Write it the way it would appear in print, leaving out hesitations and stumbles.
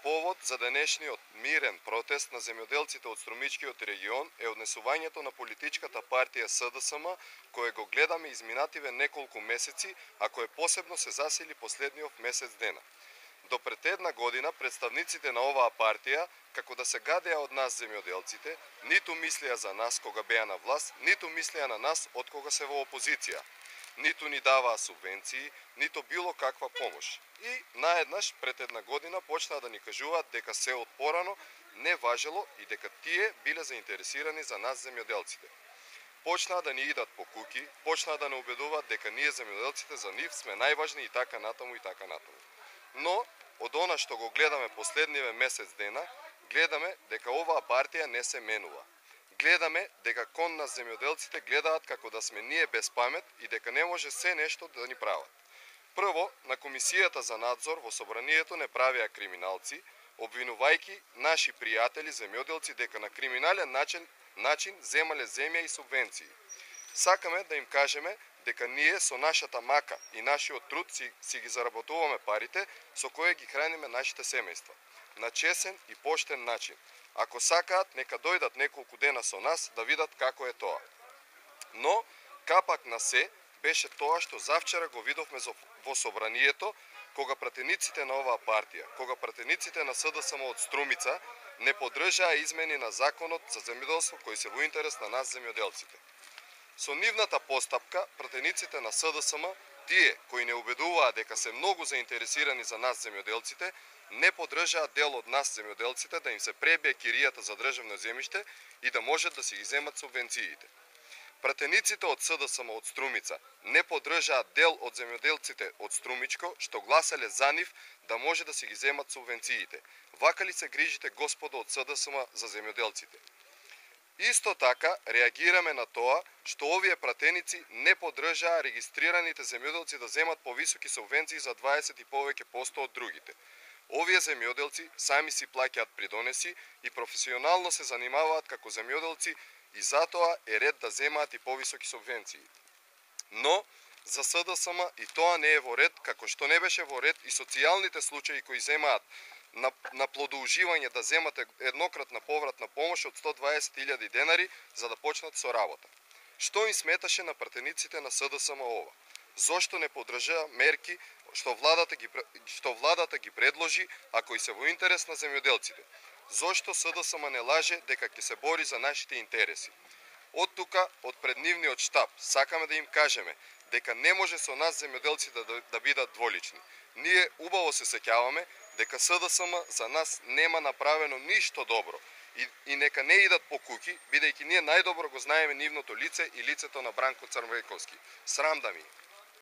Повод за денешниот мирен протест на земјоделците од Струмичкиот регион е однесувањето на политичката партија СДСМ, кое го гледаме изминативе неколку месеци, а кое посебно се засили последниот месец дена. До пред една година представниците на оваа партија, како да се гадеа од нас земјоделците, ниту мислеа за нас кога беа на власт, ниту мислеа на нас од кога се во опозиција. Ниту ни даваа субвенции, ниту било каква помош. И наеднаш пред една година почнаа да ни кажуваат дека се од порано не важело и дека тие биле заинтересирани за нас земјоделците. Почнаа да ни идат по куки, почнаа да не убедуваат дека ние земјоделците за нив сме најважни и така натаму и така натаму. Но од она што го гледаме последниве месец дена, гледаме дека оваа партија не се менува. Гледаме дека кон нас земјоделците гледаат како да сме ние без памет и дека не може се нешто да ни прават. Прво, на Комисијата за надзор во собранието не правеа криминалци, обвинувајќи наши пријатели земјоделци дека на криминален начин земале земја и субвенции. Сакаме да им кажеме дека ние со нашата мака и нашиот труд си ги заработуваме парите со кои ги храниме нашите семејства. На чесен и поштен начин. Ако сакаат, нека дојдат неколку дена со нас да видат како е тоа. Но, капак на се, беше тоа што завчера го видовме во собранието, кога пратениците на оваа партија, кога пратениците на СДСМ од Струмица не поддржаа измени на законот за земјоделство кои се во интерес на нас земјоделците. Со нивната постапка, пратениците на СДСМ, тие кои не убедуваа дека се многу заинтересирани за нас земјоделците, не поддржаат дел од нас земјоделците да им се пребие киријата за државно земјиште и да можат да си ги земат субвенциите. Пратениците од СДСМ од Струмица не поддржаат дел од земјоделците од Струмичко, што гласале за нив да може да си ги земат субвенциите. Вака ли се грижите, господо од СДСМ, за земјоделците? Исто така, реагираме на тоа што овие пратеници не поддржаа регистрираните земјоделци да земат повисоки субвенции за 20 и повеќе посто од другите. Овие земјоделци сами си плаќаат придонеси и професионално се занимаваат како земјоделци и затоа е ред да земаат и повисоки субвенции. Но, за СДСМ и тоа не е во ред, како што не беше во ред и социјалните случаи кои земаат на плодоуживање да земате еднократна повратна помош од 120.000 денари за да почнат со работа. Што им сметаше на пратениците на СДСМ ова? Зошто не поддржаа мерки што владата ги предложи, а кои се во интерес на земјоделците? Зошто СДСМ не лаже дека ќе се бори за нашите интереси? Од тука, од преднивниот штаб, сакаме да им кажеме дека не може со нас земјоделците да бидат дволични. Ние убаво се сеќаваме дека СДСМ за нас нема направено ништо добро и нека не идат по куки, бидејќи ние најдобро го знаеме нивното лице и лицето на Бранко Црвенковски. Срам да ми.